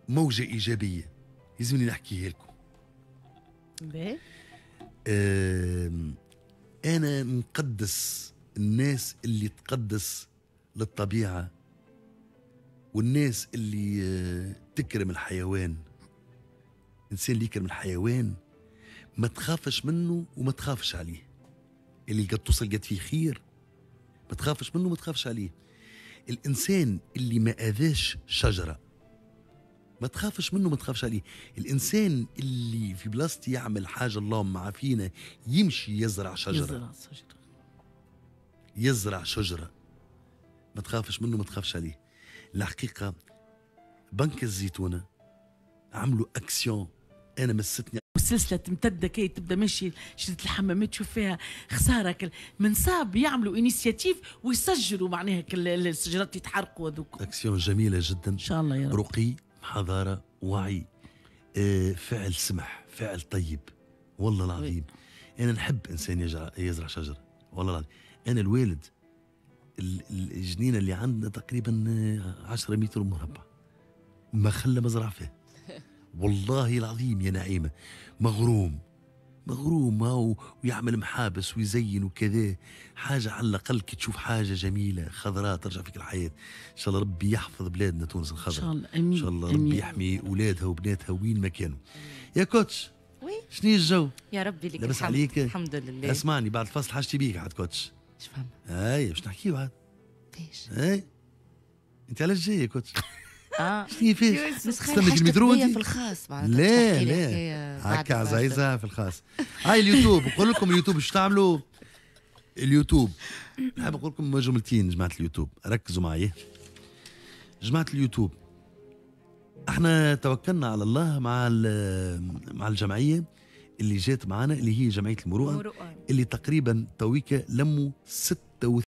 موجة إيجابية لازمني نحكيها لكم. باهي. أنا نقدس الناس اللي تقدس للطبيعة والناس اللي تكرم الحيوان. الإنسان اللي يكرم الحيوان ما تخافش منه وما تخافش عليه. اللي قد توصل قد فيه خير ما تخافش منه وما تخافش عليه. الإنسان اللي ما أذاش شجرة ما تخافش منه ما تخافش عليه. الإنسان اللي في بلاصتي يعمل حاجة اللهم عافينا يمشي يزرع شجرة، يزرع شجرة ما تخافش منه ما تخافش عليه. الحقيقة بنك الزيتونة عملوا أكسيون أنا مستني. والسلسلة تمتد كي تبدا ماشي شريط الحمامات تشوف فيها خسارة من صعب يعملوا initiative ويسجلوا معناها الشجرات يتحرقوا هذوك. اكسيون جميلة جدا ان شاء الله يا رب. رقي، حضارة، وعي، فعل سمح، فعل طيب والله العظيم. انا نحب انسان يزرع شجرة والله العظيم. انا الوالد الجنينة اللي عندنا تقريبا 10 متر مربع ما خلى مزرعة فيه والله العظيم يا نعيمة. مغروم مغروم ويعمل محابس ويزين وكذا. حاجة على الأقل كي تشوف حاجة جميلة خضراء ترجع فيك الحياة. إن شاء الله ربي يحفظ بلادنا تونس الخضراء. إن شاء الله أمين. إن شاء الله ربي يحمي أولادها وبناتها وين ما كانوا. يا coach oui شنو الجو؟ يا ربي لك لاباس عليك؟ الحمد لله. اسمعني بعد الفصل حاجتي بيك عاد coach. اش فهم؟ اي باش نحكيو عاد. فاش؟ اي انت علاش جاي يا coach؟ شنو فيش؟ استنى المترو في الخاص معناتها. لا لا هكا عزيزة في الخاص. هاي اليوتيوب نقول لكم اليوتيوب اش تعملوا؟ اليوتيوب نحب نقول لكم جملتين جماعة اليوتيوب، ركزوا معايا. جماعة اليوتيوب احنا توكلنا على الله مع الجمعية اللي جات معنا اللي هي جمعية المروءة اللي تقريبا تويكا لموا 36